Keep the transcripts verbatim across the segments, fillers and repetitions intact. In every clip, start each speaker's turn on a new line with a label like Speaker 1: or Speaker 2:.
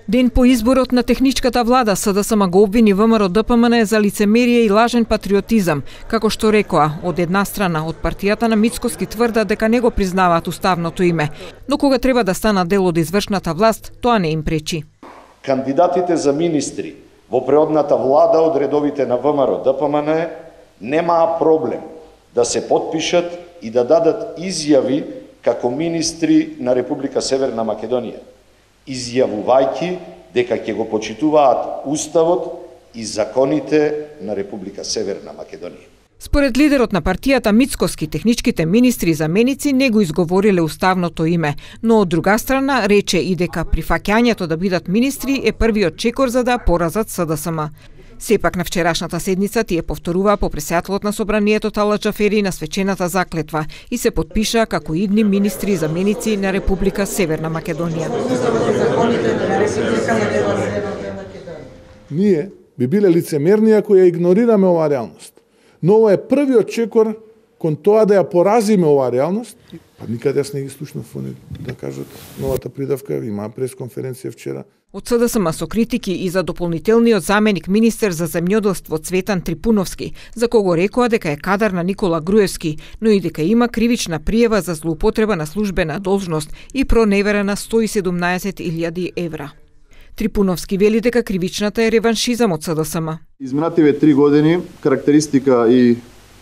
Speaker 1: Ден по изборот на техничката влада, СДСМ го обвини ВМРО-ДПМН за лицемерие и лажен патриотизам, како што рекоа, од една страна од партијата на Мицкоски тврдат дека не го признаваат уставното име, но кога треба да станат дел од извршната власт, тоа не им пречи.
Speaker 2: Кандидатите за министри во преодната влада од редовите на ВМРО-ДПМН немаа проблем да се потпишат и да дадат изјави како министри на Република Северна Македонија, изјавувајќи дека ќе го почитуваат уставот и законите на Република Северна Македонија.
Speaker 1: Според лидерот на партијата Мицкоски, техничките министри и заменици не го изговориле уставното име, но од друга страна рече и дека прифаќањето да бидат министри е првиот чекор за да поразат СДСМ. Сепак на вчерашната седница тие повторуваа по пресетателот на собранието Тала Џафери на свечената заклетва и се потпишаа како идни министри и заменици на Република Северна Македонија.
Speaker 3: Ние би биле лицемерни ако ја игнорираме оваа реалност. Но ова е првиот чекор кон тоа да ја поразиме оваа реалност. Па никаде јас не ги слушнав да кажат новата придавка, имаа пресконференција вчера.
Speaker 1: Од СДСМ со критики и за дополнителниот заменик министер за земјоделство Цветан Трипуновски, за кого рекоа дека е кадар на Никола Груевски, но и дека има кривична пријава за злоупотреба на службена должност и проневера на сто и седумнаесет илјади евра. Трипуновски вели дека кривичната е реваншизам од СДСМ.
Speaker 4: Изминативе три години карактеристика и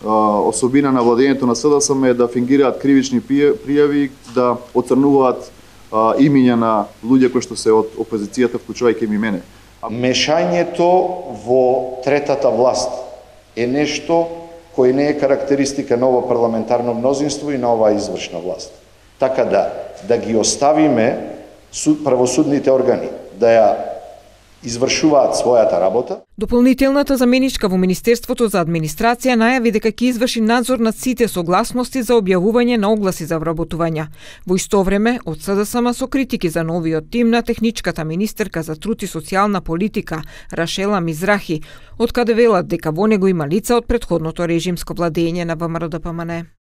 Speaker 4: а, особина на владењето на СДСМ е да фингираат кривични пријави, да оцрнуваат а, имиња на луѓе кои што се од опозицијата, вклучувајќи ми мене.
Speaker 2: Мешањето во третата власт е нешто кој не е карактеристика на ово парламентарно мнозинство и на оваа извршна власт. Така да да ги оставиме суд, правосудните органи да ја извршуваат својата работа.
Speaker 1: Дополнителната заменичка во Министерството за администрација најави дека ќе изврши надзор над сите согласности за објавување на огласи за вработувања. Во исто време, од СДСМ со критики за новиот тим на техничката министерка за труд и социјална политика Рашела Мизрахи, од каде велат дека во него има лица од претходното режимско владење на ВМРО-ДПМН.